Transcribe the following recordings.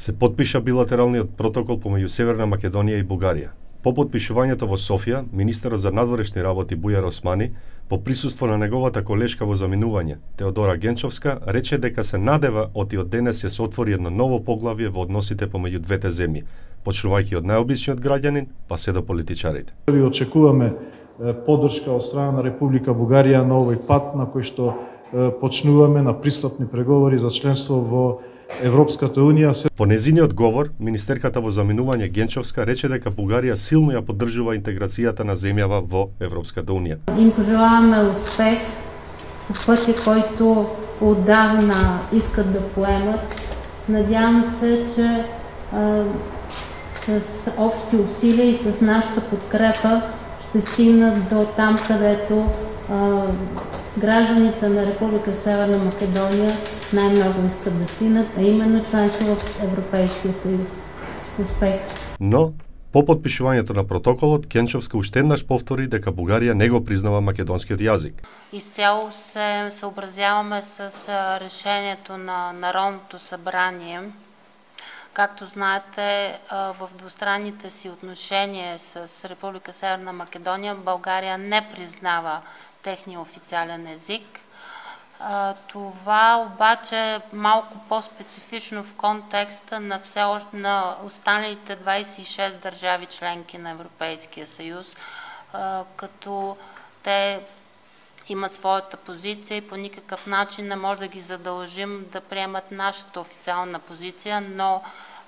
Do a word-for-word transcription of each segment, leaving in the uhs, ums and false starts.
се потпиша билатералниот протокол помеѓу Северна Македонија и Бугарија. По потпишувањето во Софија, министерот за надворешни работи Бујар Османи, по присуство на неговата колешка во заминување, Теодора Генчовска, рече дека се надева оти од денес ќе се отвори едно ново поглавје во односите помеѓу двете земји, почнувајќи од најобичниот граѓанин па се до политичарите. Ви очекуваме поддршка од страна на Република Бугарија на овој пат на кој што почнуваме на пристапни преговори за членство во Европската унија. По незиниот говор, министерката во заминување Генчовска рече дека Бугарија силно ја поддржува интеграцијата на земјава во Европската унија. Им пожелаваме успех по пътя, който отдавна искат да поемат. Надявам се, че а, с общи усилия и с нашата подкрепа ще стигнат до там, където а, гражданите на Република Северна Македонија најмногу искат да стигнат, а именно членство в Европейския съюз. Успех! Но, по подпишувањето на протоколот, Генчовска уште еднаш повтори дека Бугарија не го признава македонскиот јазик. Изцяло се съобразяваме с решението на Народното събрание. Както знаете, в двустранните си отношения с Република Северна Македония България не признава техния официален език. Това обаче е малко по-специфично в контекста на, все още, на останалите двадесет и шест държави членки на Европейския съюз, като те имат своята позиция и по никакъв начин не може да ги задължим да приемат нашата официална позиция, но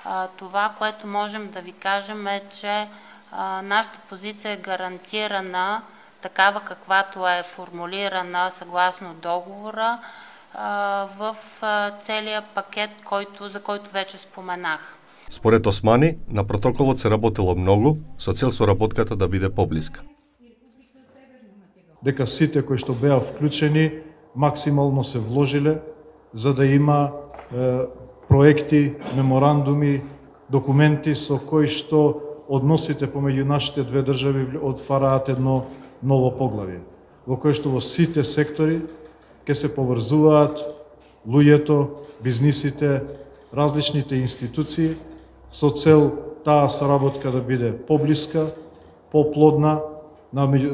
а, това, което можем да ви кажем е, че а, нашата позиция е гарантирана такава каквато е формулирана съгласно договора а, в а, целия пакет, който, за който вече споменах. Според Османи, на протоколот се работело многу, со цел соработката да биде поблиска. Дека сите кои што беа вклучени максимално се вложиле за да има е, проекти, меморандуми, документи со кои што односите помеѓу нашите две држави отвараат едно ново поглавје, во кое што во сите сектори ќе се поврзуваат луѓето, бизнисите, различните институции со цел таа соработка да биде поблиска, поплодна,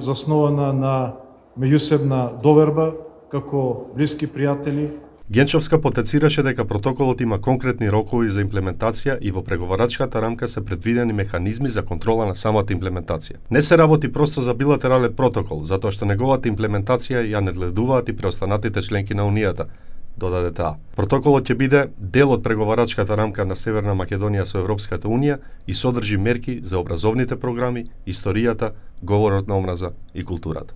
заснована на меѓусебна доверба како блиски пријатели. Генчовска потенцираше дека протоколот има конкретни рокови за имплементација и во преговарачката рамка се предвидени механизми за контрола на самата имплементација. Не се работи просто за билатерален протокол, затоа што неговата имплементација ја надледуваат и преостанатите членки на Унијата, додаде таа. Протоколот ќе биде дел од преговарачката рамка на Северна Македонија со Европската унија и содржи мерки за образовните програми, историјата, говорот на омраза и културата.